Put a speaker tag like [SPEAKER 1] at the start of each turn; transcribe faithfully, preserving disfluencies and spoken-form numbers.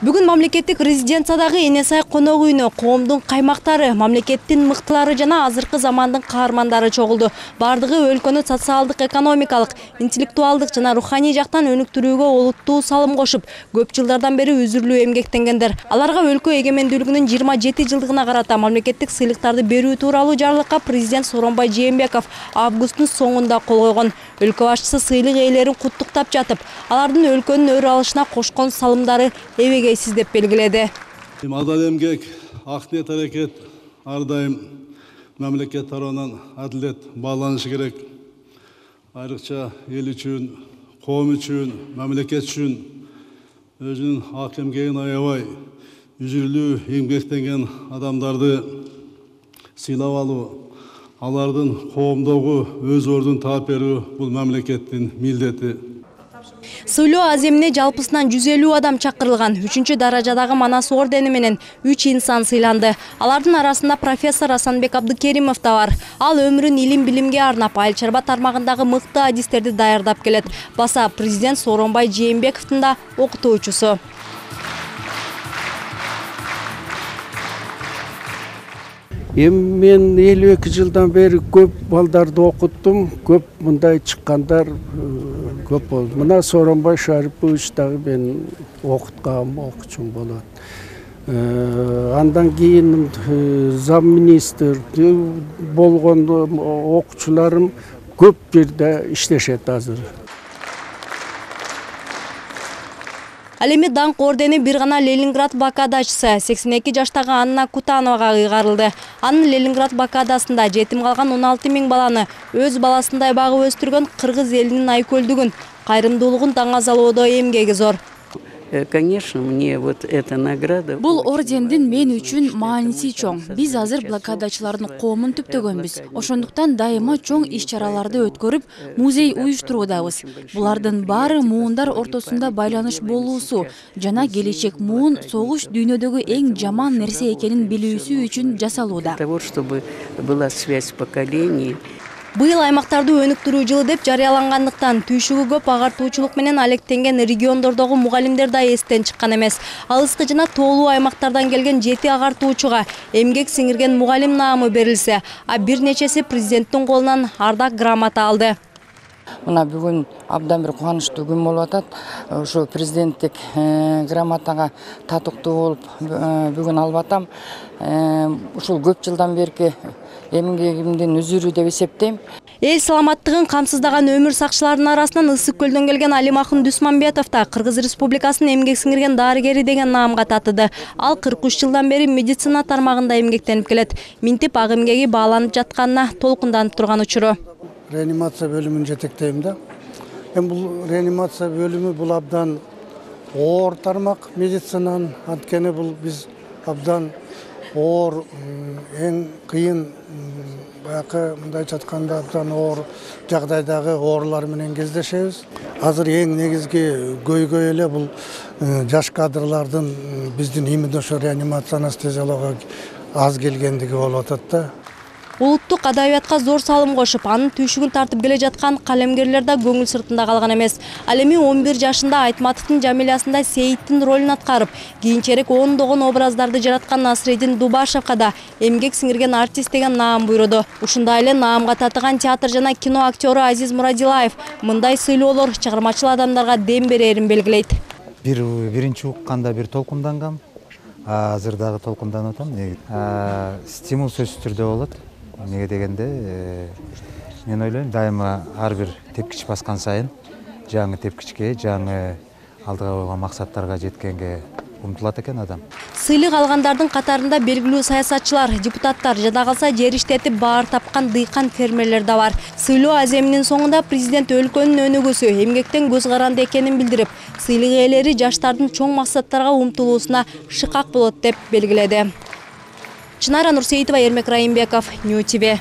[SPEAKER 1] Бүгүн мамлекеттик резиденциядагы Эне сай конок үйүнө коомдун каймактары, мамлекеттин мыктылары жана азыркы замандын каармандары чогулду. Бардыгы өлкөнү социалдык, экономикалык, интеллектуалдык жана руханий жактан өнүктүрүүгө олуттуу салым кошуп, көп жылдардан бери үзүрлүү эмгектенгендер. Аларга өлкө эгемендүүлүгүнүн жыйырма жети жылдыгына карата мамлекеттик сыйлыктарды берүү тууралуу жарлыкка президент Сооронбай Жээнбеков августтун соңунда кол койгон. Өлкө башчысы сыйлык ээлерин куттуктап жатып, алардын өлкөнүн өр алышына кошкон салымдары эбегейсиз деп белгиледи.
[SPEAKER 2] Адал эмгек, ак ниет аракет ар дайым мамлекет тарабынан адилет бааланышы керек. Айрыкча эл үчүн, коом үчүн, мамлекет үчүн өзүнүн ак эмгегин аябай үзүрлүү эмгектенген адамдарды сыйлап алуу, алардын коомдогу өз ордун таап берүү бул мамлекеттин милдети.
[SPEAKER 1] Сыйлоо аземине жалпысынан жүз элүү адам чакырылган. Үчүнчү даражадагы Манас ордени менен үч инсан сыйланды. Алардын арасында профессор Асанбек Абдыкеримов да бар. Ал өмүрүн илим-билимге арнап, айыл чарба тармагындагы мыкты адистерди даярдап келет. Баса президент Сооронбай Жээнбековдун да окутуучусу.
[SPEAKER 3] Эми мен элүү эки жылдан бери көп балдарды окуттум, көп мындай чыккандар көп болду. Мына Сооронбай Шарипович дагы мен окуткам, окуучум болот. Андан кийин замминистр болгон окуучуларым көп жерде иштешет азыр.
[SPEAKER 1] Ал эми даңк ордени бир гана Ленинград блокадачысы сексен эки жаштагы Анна Кутановага ыйгарылды. Анын Ленинград блокадасында жетим калган он алты миң баланы өз баласындай багып өстүргөн кыргыз элинин айкөлдүгүн, кайрымдуулугун таңазалоодо эмгеги зор.
[SPEAKER 4] Конечно, мне вот эта награда.
[SPEAKER 5] Бул ордендин мен үчүн мааниси чоң. Биз азыр блокадачылардын коомун түптөгөнбүз. Ошондуктан дайыма чоң иш-чараларды өткөрүп, музей уюштуруудабыз. Булардын баары муундар ортосунда байланыш болуусу жана келечек муун согуш дүйнөдөгү эң жаман нерсе экенин билүүсү үчүн жасалууда.
[SPEAKER 4] Для того, чтобы была связь поколений.
[SPEAKER 1] Быйыл аймактарды өнүктүрүү жылы деп жарыялангандыктан түйшүгү көп агартуучулук менен алектенген региондордогу мугалимдер да эстен чыккан эмес. Алыскы жана тоолуу аймактардан келген жети агартуучуга эмгек сиңирген мугалим наамы берилсе, а бир нечеси президенттин колунан ардак грамота алды.
[SPEAKER 6] Мына бүгүн абдан бир кубанычтуу күн болуп атат. Ошо президенттик грамотага татыктуу болуп бүгүн алып атам. Ушул көп жылдан берки эмгегимдин үзүрү деп эсептейм.
[SPEAKER 1] Эл саламаттыгын камсыздаган өмүр сакчыларынын арасынан Ысык көлдөн келген Алимахун Дусманбетов да Кыргыз Республикасынын эмгек сиңирген дарыгери деген наамга татыды. Ал кырк үч жылдан бери медицина тармагында эмгектенип келет. Минтип ак эмгеги бааланып жатканына толкунданып турган учуру.
[SPEAKER 7] Реанимация бөлүмүн жетектейм да. Эми бул реанимация бөлүмү бул абдан оор тармак медицинанын, анткени бул биз абдан оор, эң кыйын, баягы мындай жатканда абдан оор жагдайдагы оорлар менен кездешебиз. Азыр эң негизги көйгөй эле бул жаш кадрлардын биздин именно ошо реанимация анестезиология аз келгендиги болуп атат да.
[SPEAKER 1] Улуттук адабиятка зор салым кошуп, анын түйшүгүн тартып келе жаткан калемгерлер да көңүл сыртында калган эмес. Ал эми он бир жашында Айтматовдун Жамилясында Сейиттин ролун аткарып, кийинчерээк ондогон образдарды жараткан Насреддин Дубашевка да эмгек сиңирген артист деген наам буйруду. Ушундай эле наамга татыган театр жана кино актёру Азиз Мурадилаев мындай сыйлоолор чыгармачыл адамдарга дем берерин белгилейт.
[SPEAKER 8] Бир биринчи укканда бир толкундангам, азыр дагы толкунданып атам. Стимул сөзсүз түрдө болот. Неге дегенде мен ойлойм, дайыма ар бир тепкич баскан сайын жаңы тепкичке, жаңы алдыга койгон максаттарга жеткенге умтулат экен адам.
[SPEAKER 1] Сыйлык алгандардын катарында белгилүү саясатчылар, депутаттар, жада калса жер иштетип баар тапкан дыйкан фермерлер да бар. Сыйлоо аземинин соңунда президент өлкөнүн өнүгүүсү, эмгектен көз каранды экенин билдирип, сыйлык ээлери жаштардын чоң максаттарга умтулуусуна шыкак болот деп белгиледи. Чынара Нурсейитова, Ермек Райымбеков, Нью ти ви.